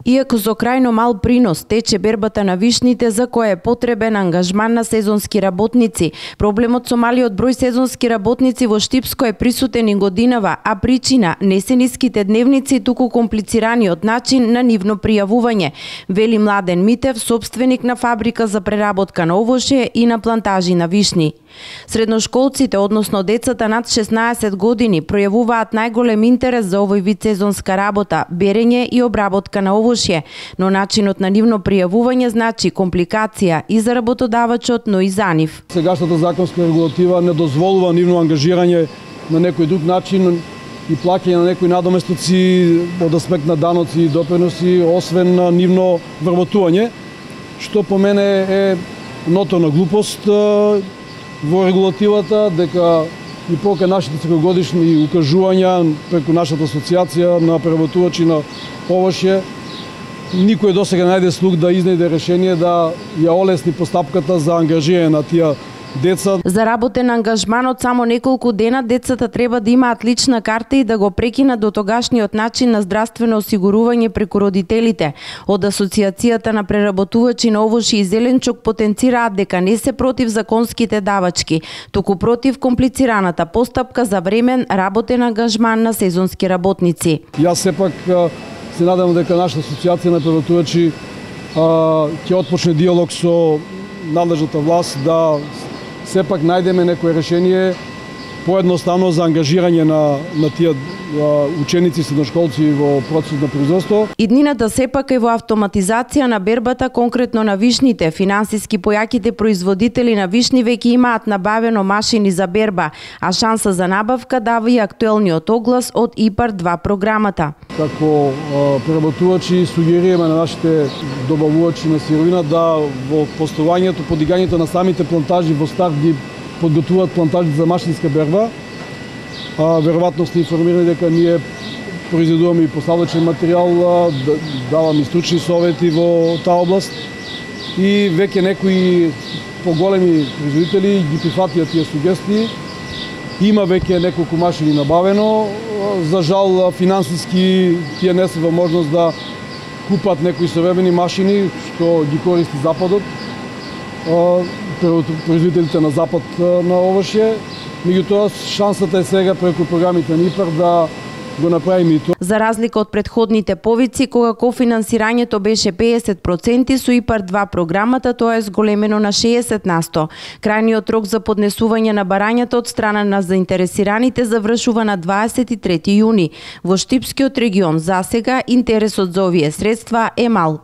Иако со крајно мал принос тече бербата на вишните за која е потребен ангажман на сезонски работници. Проблемот со малиот број сезонски работници во Штипско е присутен и годинава, а причина не се ниските дневници, туку комплицираниот начин на нивно пријавување, вели Младен Митев, собственик на фабрика за преработка на овошје и на плантажи на вишни. Средношколците, односно децата над 16 години, пројавуваат најголем интерес за овој вид сезонска работа, берење и обработка на овошје, но начинот на нивно пријавување значи компликација и за работодавачот, но и за нив. Сегашната законска регулатива не дозволува нивно ангажирање на некој друг начин и плаќање на некои надоместоци од аспект на даноци и доприноси, освен на нивно вработување, што по мене е ноторна глупост во регулативата, дека и пока нашите секогодишни укажувања преку нашата асоциација на преработувачи на овошје, никој досега најде слух да изнајде решение да ја олесни постапката за ангажирање на тие деца. За работен ангажман од само неколку дена децата треба да имаат лична карта и да го прекинат до тогашниот начин на здравствено осигурување преку родителите. Од Асоциацијата на преработувачи на овошје и зеленчук потенцираат дека не се против законските давачки, туку против комплицираната постапка за времен работен ангажман на сезонски работници. Јас сепак се надам дека нашата асоциација на преработувачи ќе отпочне диалог со надлежната власт да сепак најдеме некое решение поедноставно за ангажирање на тие ученици и средношколци во процесот на производство. Иднината сепак е во автоматизација на бербата, конкретно на вишните. Финансиски појаките производители на вишни веќе имаат набавено машини за берба, а шанса за набавка дава и актуелниот оглас од ИПАР-2 програмата. Како преработувачи сугерираме на нашите добавувачи на сировина да во постојањето, подигањето на самите плантажи во старт ги подготвуваат плантажи за машинска берба. Веројатно сте информирани дека ние произведуваме и поставачен материјал, даваме и стручни совети во таа област и веќе некои поголеми производители ги прифатија тие сугестии. Има веќе неколку машини набавено. За жал финансиски тие не се во можност да купат некои современи машини што ги користи Западот. Производителите на Запад на овошје. Меѓутоа, шансата е сега преку програмите на ИПАР да го направиме и тоа. За разлика од претходните повици, кога кофинансирањето беше 50%, со ИПАР-2 програмата тоа е зголемено на 60%. Крајниот рок за поднесување на барањата од страна на заинтересираните завршува на 23 јуни. Во Штипскиот регион засега интересот за овие средства е мал.